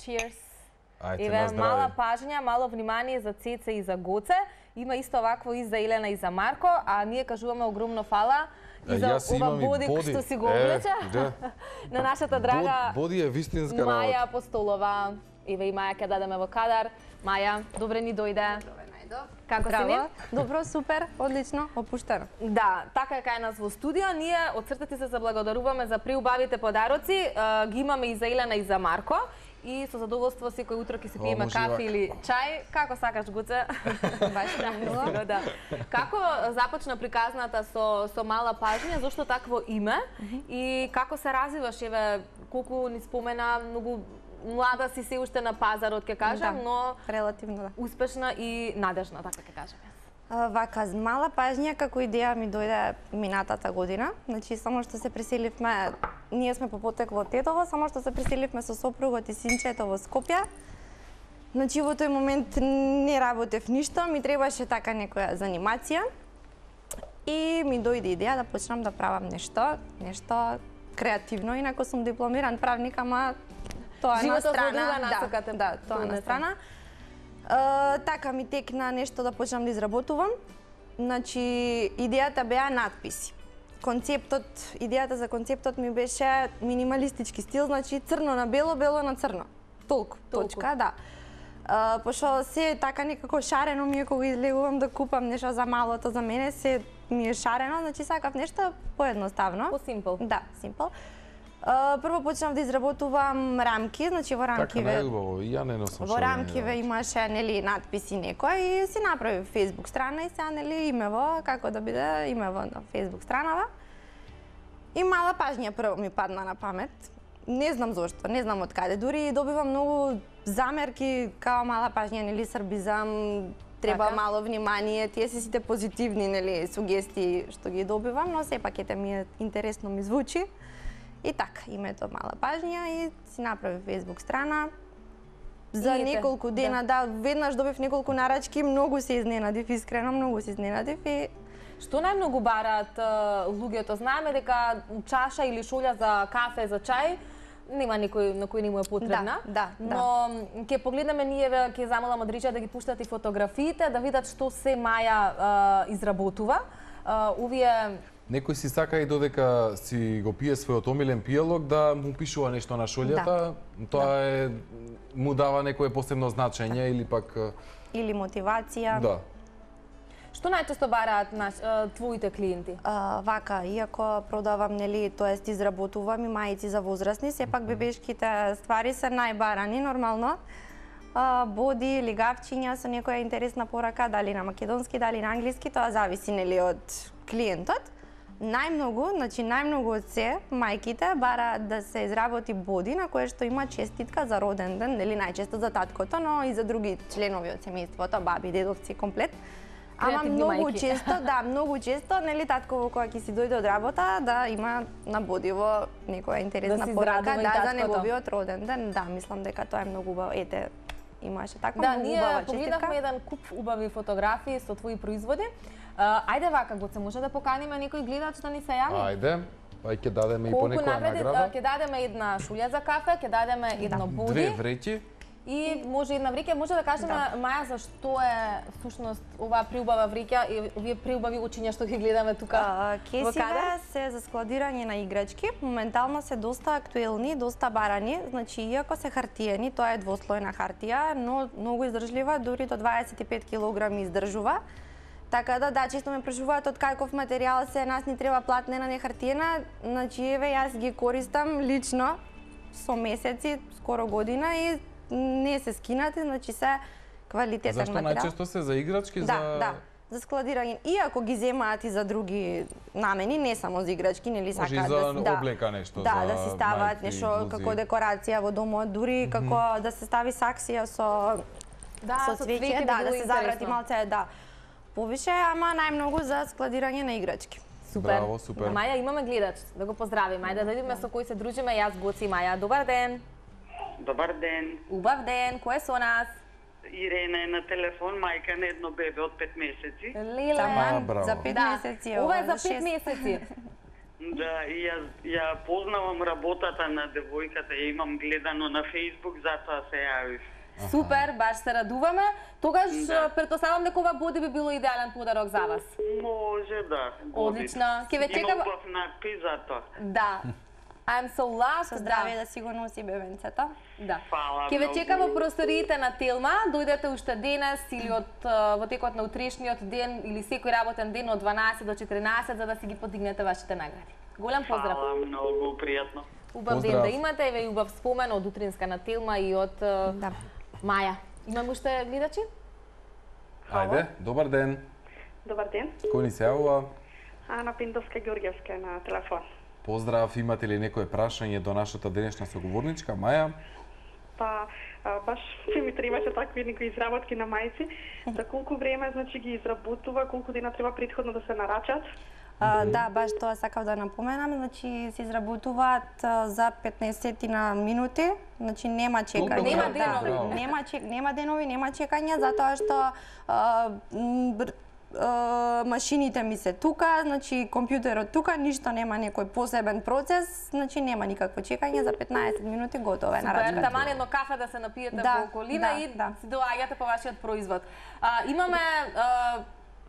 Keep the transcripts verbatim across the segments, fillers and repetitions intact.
Cheers. Ајде, Еве, на здравје. мала пажња, мало внимание за Цеце и за Гоце. Има исто вакво и за Елена и за Марко, а ние кажуваме огромно фала и за Јас ова имам и боди боди. што си го Е, облече. да. На нашата драга Бод- боди е вистинска Маја работа. Апостолова. Еве и Маја ќе дадеме во кадар. Маја, добре ни дојде. Како си ни? Добро, супер, одлично, опуштено. Да, така е кај нас во студио. Ние од срце ти се заблагодаруваме за преубавите подароци. Е, ги имаме и за Елена и за Марко. И со задоволство секој утро ќе си пиеме кафе или чај. Како сакаш, Гоце? Баш премило. Да. Како започна приказната со со мала пажња, зошто такво име и како се развиваш? Еве, колку ни спомена, многу млада си се уште на пазарот, ќе кажам, Да, но релативно да. успешна и надежна, така ќе кажам. А, Вака, мала пажња како идеја ми дојде минатата година. Значи, само што се преселивме, ние сме по потекло од Тетово, само што се преселивме со сопругот и синчето во Скопје. Значи, во тој момент не работев ништо, ми требаше така некоја занимација. И ми дојде идеја да почнам да правам нешто, нешто креативно, инако сум дипломиран правник, ама тоа на Животот во страна. друга насока те Да, да, тоа на понесе. страна. Uh, така ми текна нешто да почнам да изработувам. Значи, идејата беа надписи. Концептот, идејата за концептот ми беше минималистички стил, значи црно на бело, бело на црно. Толку, Толку. точка, да. Uh, пошто се така некако шарено ми е кога излегувам да купам нешто за малото, за мене се ми е шарено, значи сакав нешто поедноставно. По симпл. Да, симпл. Uh, прво почнав да изработувам рамки, значи во Така рамкиве. најубаво, и ја не носам Во шо рамкиве имаше нели надписи некој и си направив Facebook страна и сега нели имево како да биде имево на Facebook странава. И мала пажња прво ми падна на памет. Не знам зошто, не знам од каде. Дури добивам многу замерки као мала пажња, нели србизам, треба Така. мало внимание, тие се сите позитивни нели сугестии што ги добивам, но сепак ете ми е интересно ми звучи. И така, името мала пажња и си направив Facebook страна. За И неколку ете, дена, да. да, веднаш добив неколку нарачки, многу се изненадив, искрено многу се изненадив и Што најмногу бараат е, луѓето? Знаеме дека чаша или шолја за кафе, за чај, нема никој на кој не му е потребна. Да, да, да. Но ќе погледнеме ние, ќе замолам од Рича да ги пуштат и фотографиите, да видат што се Маја е, изработува. Е, Овие Некој си сака и додека си го пие својот омилен пиелок да му пишува нешто на шолјата, да. Тоа е му дава некое посебно значење или пак или мотивација. да. Што најчесто бараат наш, е, твоите клиенти? А, вака, иако продавам, нели, тоест изработувам и мајци за возрастни, сепак бебешките ствари се најбарани нормално. А, боди, лигавчиња со некоја интересна порака, дали на македонски, дали на англиски, тоа зависи нели од клиентот. Најмногу, значи најмногу од се, мајките бараат да се изработи боди на кое што има честитка за роден ден, нели најчесто за таткото, но и за други членови од семејството, баби, дедовци, комплет. Ама Креативни многу мајки. често, да, многу често, нели татково кога ќе си дојде од работа, да има на бодиво некоја интересна Да си порака, израдува и да, за таткото. неговиот роден ден. Да, мислам дека тоа е многу убаво. Ете, имаше таква Да, многу ние убава погледнахме честитка. еден куп убави фотографии со твои производи. А, ајде вака, Гоце, може да поканиме некој гледач да ни се јави? Ајде, ај ќе дадеме и по Колку некоја напред, награда. ќе дадеме една шулја за кафе, ќе дадеме едно Две боди вреќи. и може една вреќа. Може да кажеме, Маја, зашто е всушност оваа приубава вреќа и овие приубави очиња што ги гледаме тука А, во Кесиве кадар? се за складирање на играчки, моментално се доста актуелни, доста барани, значи иако се хартиени, тоа е двослојна хартија, но многу издржлива, дури до дваесет и пет килограми издржува. Така да, да, често ме прашуваат од каков материјал се, нас ни треба платнена, не хартиена, значи еве јас ги користам лично со месеци, скоро година и не се скинати, значи се квалитетен Зашто материјал. најчесто се за играчки, Да, за да, за складирање. Иако ги земаат и за други намени, не само за играчки, нели може и сакаат за да, да облека нешто, да, за да си ставаат мајки, нешто блузи. како декорација во домот, дури како да се стави саксија со Да, со цвеќе, да, да се заврати малце, да. Повише, ама најмногу за складирање на играчки. Супер. Браво, супер. Маја, имаме гледач, да го поздравиме. Ајде да видиме со кој се дружиме, јас, Гоци и Маја. Добар ден. Добар ден. Убав ден. Кој е со нас? Ирена е на телефон, мајка на едно бебе од пет месеци. Лиле. А, браво. За пет Да. месеци е Ова е ова, за пет шест. месеци. Да, и јас ја познавам работата на девојката, ја имам гледано на Facebook, затоа се јавив. Супер, баш се радуваме. Тогаш Да. претпоставам дека ова боди би било идеален подарок за вас. Може да. Одлично. Ке ве чекам. Има убав надпис за тоа. Да. I'm so loved. Со здравје да си го носи бебенцето. Да. Фала Ке ве многу. чекам во просториите на Телма, дојдете уште денес или од а, во текот на утрешниот ден или секој работен ден од дванаесет до четиринаесет за да си ги подигнете вашите награди. Голем поздрав. Фала многу, пријатно. Убав ден Поздрав. да имате, еве и убав спомен од утринска на Телма и од а, Да. Маја. Имаме уште гледачи? Ајде, добар ден. Добар ден. Кој ни се јавува? Ана Пиндовска Ѓорѓевска на телефон. Поздрав, имате ли некое прашање до нашата денешна соговорничка, Маја? Па, а, баш ми требаше такви некои изработки на мајци. За колку време значи ги изработува, колку дена треба претходно да се нарачат? А, да, баш тоа сакав да напоменам, значи се изработуваат а, за петнаесет на минути, значи нема чекање. Толку Нема да, денови. нема чек, нема денови, нема чекање затоа што а, м, бр- а, машините ми се тука, значи компјутерот тука, ништо нема некој посебен процес, значи нема никакво чекање, за петнаесет минути готово е Супер, нарачката. таман едно кафе да се напиете Да, во околина да, и да. си доаѓате по вашиот производ. А, имаме а,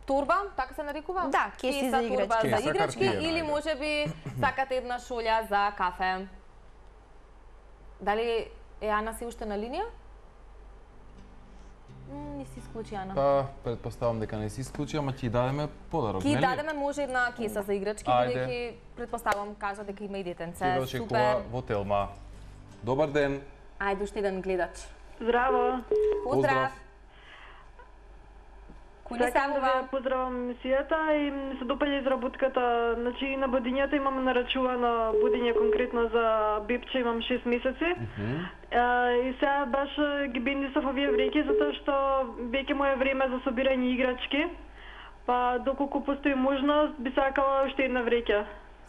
торба, така се нарекува? Да, кеси Кеса, за торба играчки. за Кеса, играчки картиена, или ајде. можеби сакате една шолја за кафе. Дали е Ана си уште на линија? М, Не си исклучи Ана. Па, предпоставам дека не си исклучи, ама ќе дадеме подарок, Ки нели? дадеме може една кеса за играчки, Ајде. бидејќи предпоставам кажа дека има и Ќе детенце. ве очекува Супер. во Телма. Добар ден. Ајде уште еден гледач. Здраво. Поздрав. Кој ни Сакам да сакува? ве поздравам емисијата и ми се допаѓа изработката. Значи на будињата имам нарачувано будиње конкретно за бебче, имам шест месеци. А, и сега баш ги бендисав овие вреќи затоа што веќе му е време за собирање играчки. Па доколку постои можност, би сакала уште една вреќа.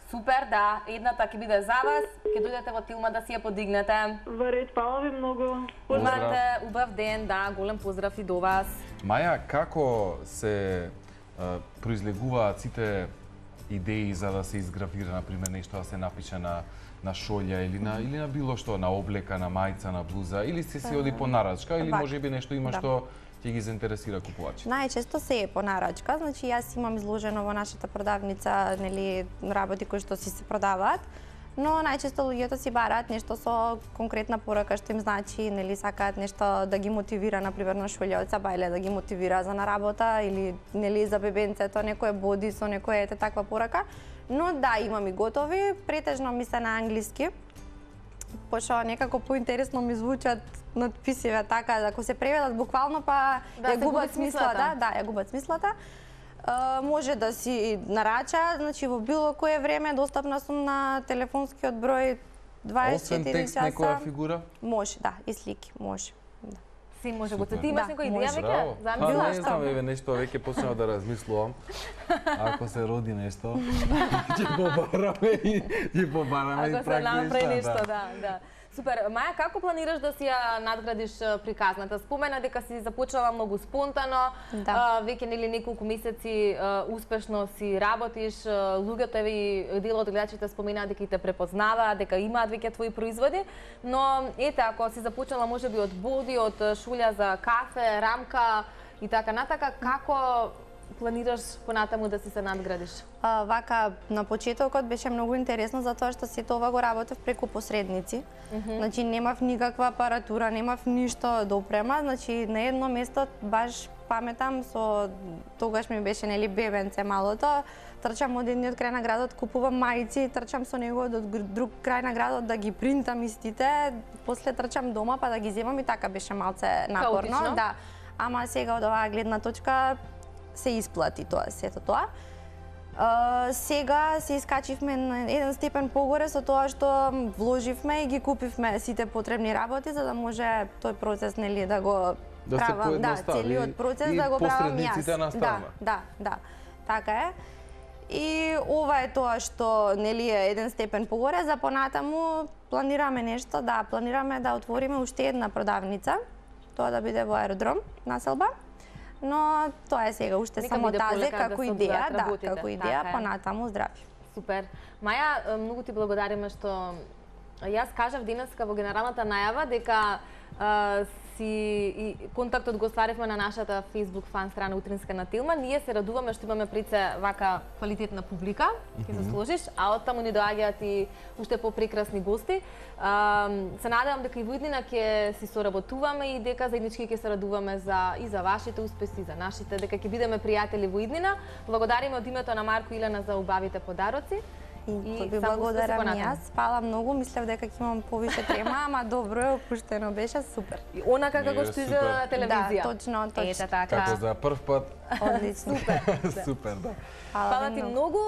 Супер, да. Едната ќе биде за вас. Ќе дојдете во Тилма да си ја подигнете. Во ред, фала ви многу. Поздрав. Имате убав ден, да. Голем поздрав и до вас. Маја, како се а, произлегуваат сите идеи за да се изгравира, например, нешто да се напише на на шолја или на или на било што, на облека, на мајца, на блуза, или се си оди по нарачка, или Вака. можеби нешто има Да. што ќе ги заинтересира купувачите? Најчесто се е по нарачка, значи јас имам изложено во нашата продавница, нели, работи кои што си се продаваат, но најчесто луѓето си бараат нешто со конкретна порака што им значи, нели, сакаат нешто да ги мотивира, например, на шолјоца, бајле да ги мотивира за на работа или нели за бебенцето, некој боди со некоја ете таква порака. Но да, имам и готови, претежно ми се на англиски, пошто некако поинтересно ми звучат надписиве така, ако се преведат буквално па Да, ја се губи губат смислата, смислата. да, ја губат смислата. Uh, може да си нарача, значи во било кое време достапна сум на телефонскиот број дваесет и Освен четири текст, некоја часа. фигура? Може, да, и слики, може. Да. Си може го Супер. ти имаш Да, некоја може. идеја веќе? Браво. Па Замислила не што? знам, еве нешто веќе почнав да размислувам. Ако се роди нешто, ќе побараме и ќе побараме и Ако се прак направи нешто, да. да, да. Супер. Маја, како планираш да си ја надградиш а, приказната? Спомена дека си започнала многу спонтано, Да. а, веќе нели неколку месеци а, успешно си работиш, а, луѓето еве и дел од гледачите споменаа дека и те препознаваат, дека имаат веќе твои производи, но ете, ако си започнала можеби од боди, од а, шулја за кафе, рамка и така натака, како планираш понатаму да си се надградиш? А, вака, на почетокот беше многу интересно затоа што сето ова го работев преку посредници. Mm -hmm. Значи немав никаква апаратура, немав ништо да опрема, значи на едно место баш паметам со тогаш ми беше нели бебенце малото, трчам од едниот крај на градот, купувам мајци, трчам со него од друг крај на градот да ги принтам истите, после трчам дома па да ги земам и така беше малце напорно, Хаотично. да. Ама сега од оваа гледна точка се исплати тоа, сето тоа. Uh, сега се искачивме на еден степен погоре со тоа што вложивме и ги купивме сите потребни работи за да може тој процес нели да го Да се правам, да, поедностави целиот процес и да го правам јас. посредниците на страна. Да, да, да. Така е. И ова е тоа што нели е еден степен погоре, за понатаму планираме нешто, да, планираме да отвориме уште една продавница, тоа да биде во аеродром, населба. Но тоа е сега уште Нека само биде тазе полека да како се идеја, одвојат да, работите, како идеја, така е. понатаму здрави. Супер. Маја, многу ти благодариме што јас кажав денеска во генералната најава дека а, си и контактот го остваривме на нашата Facebook фан страна Утринска на Тилма. Ние се радуваме што имаме пред се вака квалитетна публика, ќе се сложиш, а од таму ни доаѓаат и уште попрекрасни гости. А, се надевам дека и во иднина ќе си соработуваме и дека заеднички ќе се радуваме за и за вашите успеси, за нашите, дека ќе бидеме пријатели во иднина. Благодариме од името на Марко и Илена за убавите подароци. И, и ви благодарам и јас. Спала многу, мислев дека ќе имам повише трема, ама добро е, опуштено беше, супер. И онака како што изгледа на телевизија. Да, точно, точно. Ете така. Како за прв пат. Одлично. Супер. Супер, да. Фала ти многу.